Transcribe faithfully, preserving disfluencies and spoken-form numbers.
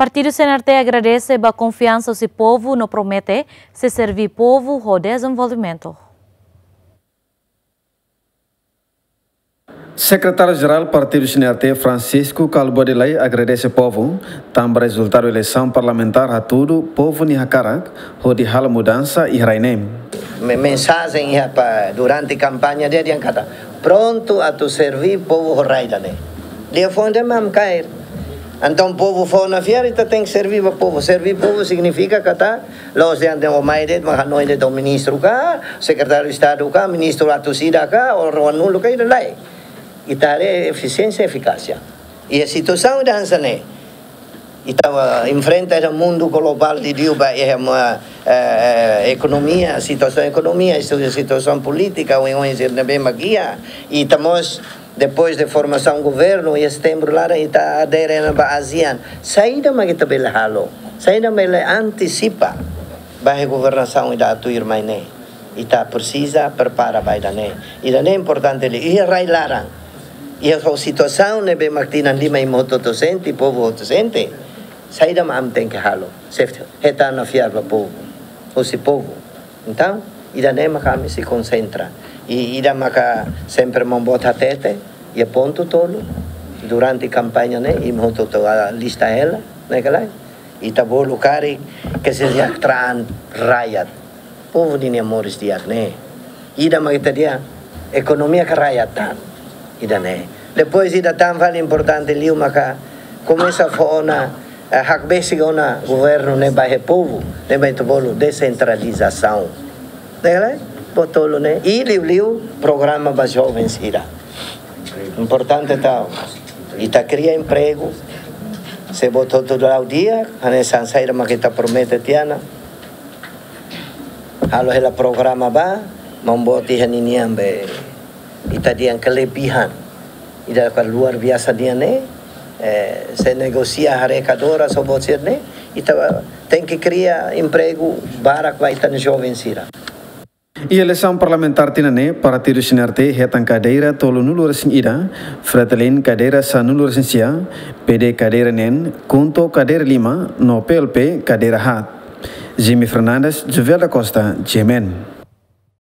Partidu C N R T agradese ba konfiansa husi povu no promete sei serví povu ho dezenvolvimentu. Sekretáriu Jerál Partidu C N R T, Francisco Kalbuadi Lay, agradese povu tanba rezultadu eleisaun parlamentár hatudu povu nia hakarak hodi halo mudansa iha rai ne'e. Me-, mensajen iha pa durante kampaña nia dehan katak prontu atu serví povu ho rai ida-ne'e. Lia fó ida mak kaer. Entaun povu fó nafatin ita tenke serví ba povu. Serví povu signifika katak la'ós dehan de'it ó mai de'it mak hanoin de'it ó ministru ka, sekretáriu Estadu ka, ministru atus ida ka, ou ruanulu ka, ida-ne'e lae. Ita haree efisiénsia, efikásia. I situasaun ida hanesan ne'e ita, eh, enfrenta iha mundu globál, liuliu ba iha, eh, eh, ekonomia, situasaun ekonomia, situ-, situasaun polítika, oioin sira ne'ebé mak iha. I ita mós, depois de formasaun governu, iha setembru laran ita adere ona ba ASEAN. Saida mak ita bele halo? Saida mak bele antisipa ba iha governasaun ida atu tuirmai ne'e? Ita presiza prepara ba ida-ne'e. Ida-ne'e importante liu. Iha rai laran, iha situasaun ne'ebé mak tinan lima imi hotu-hotu sente, povu hotu sente, saida mak ami tenke halo? Safety. Hetan nafatin ba povu, husi povu. Entaun, ida-ne'e maka ami sei konsentra. I ida maka sempre maun boot hatete, iha pontu tolu durante kampaña ne'e, imi hotu-hotu lista hela, ne'e ka lae? Ita bolu karik kesejahteraan rakyat. Povu ninia moris di'ak ne'e. Ida mak ita dehan ekonomia ka rakyat tan. Ida-ne'e. Depois ida tan fali importante liu maka komesa fó ona, eh, hakbesik ona governu ne'e ba iha povu, ne'e mak ita bolu desentralizasaun. Ne'e ka lae? Pontu tolu ne'e. I liuliu programa ba joven sira. Importante tau. Ita kria empregu. Se buat hotu la'o di'ak, hanesan saida mak ita promete tiha ona. Halo hela programa ba, maun boot iha ninian be, ita dehan kelebihan. Ida ka luar biasa nian ne'e, eh, se negosia haree ka dora so buat sira-ne'e, ita tenke kria empregu barak ba ita-nia joven sira. Iha eleisaun parlamentár tinan ne'e, partidu C N R T hetan kadeira tolunulu-resin-ida, Fretilin kadeira sanulu-resin-sia, P D kadeira neen, KHUNTO kadeira lima, no P L P kadeira haat. Jimmy Fernandes, Jovel da Costa, G M N.